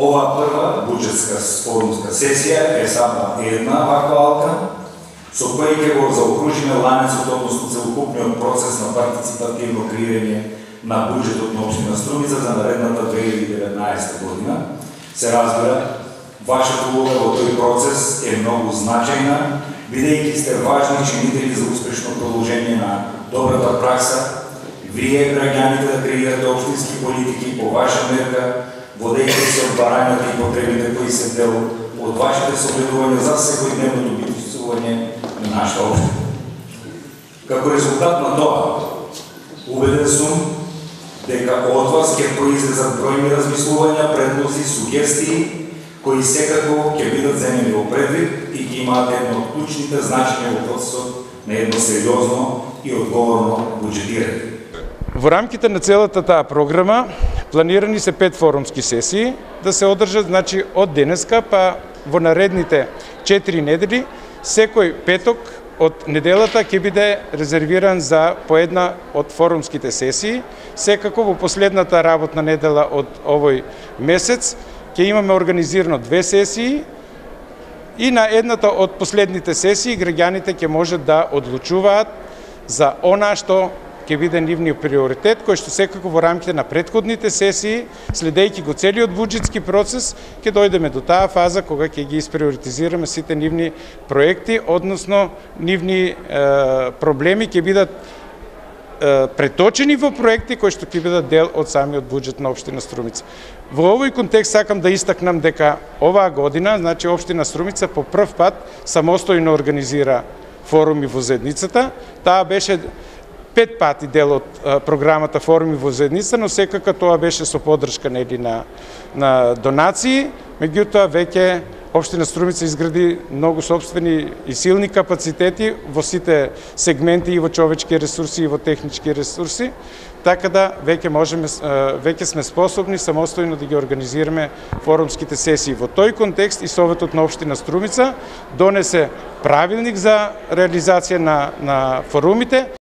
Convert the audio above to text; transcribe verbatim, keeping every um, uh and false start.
Ова прва буџетска форумска сесија е само една актуалка, со која ќе го заокружиме ланецот, односно целокупниот процес на партиципативно креирање на буџетот на општина Струмица за наредната две илјади и деветнаесетта година. Се разбира, вашата улога во тој процес е многу значајна, бидејќи сте важни чинители за успешно продолжение на добрата пракса. Вие, граѓаните, да креирате општински политики по ваша мерка, водејќи се од барањата и потребите кои се дел од вашите согледувања за секојдневното битување на нашата општина. Како резултат на тоа, убеден сум дека од вас ќе произлезат бројни размислувања, предлози, сугестии, кои секако ќе бидат земени во предвид и ќе имаат едно од клучните значења во процесот на едно сериозно и одговорно буџетирање. Во рамките на целата таа програма планирани се пет форумски сесии да се одржат, значи од денеска па во наредните четири недели. Секој петок од неделата ќе биде резервиран за по една од форумските сесии. Секако во последната работна недела од овој месец ќе имаме организирано две сесии и на едната од последните сесии граѓаните ќе можат да одлучуваат за она што ќе биде нивниот приоритет, кој што секако во рамките на претходните сесии, следејќи го целиот буџетски процес, ќе дојдеме до таа фаза кога ќе ги исприоритизираме сите нивни проекти, односно нивни е, проблеми ќе бидат е, преточени во проекти кои што ќе бидат дел од самиот буџет на општина Струмица. Во овој контекст сакам да истакнам дека оваа година, значи општина Струмица по прв пат самостојно организира форуми во заедницата. Таа беше пет пати дел од а, програмата Форуми во заедница, но секако тоа беше со поддршка нели на на донации. Меѓутоа веќе општина Струмица изгради многу сопствени и силни капацитети во сите сегменти и во човечки ресурси и во технички ресурси, така да веќе можеме веќе сме способни самостојно да ги организираме форумските сесии. Во тој контекст и Советот на општина Струмица донесе правилник за реализација на на форумите.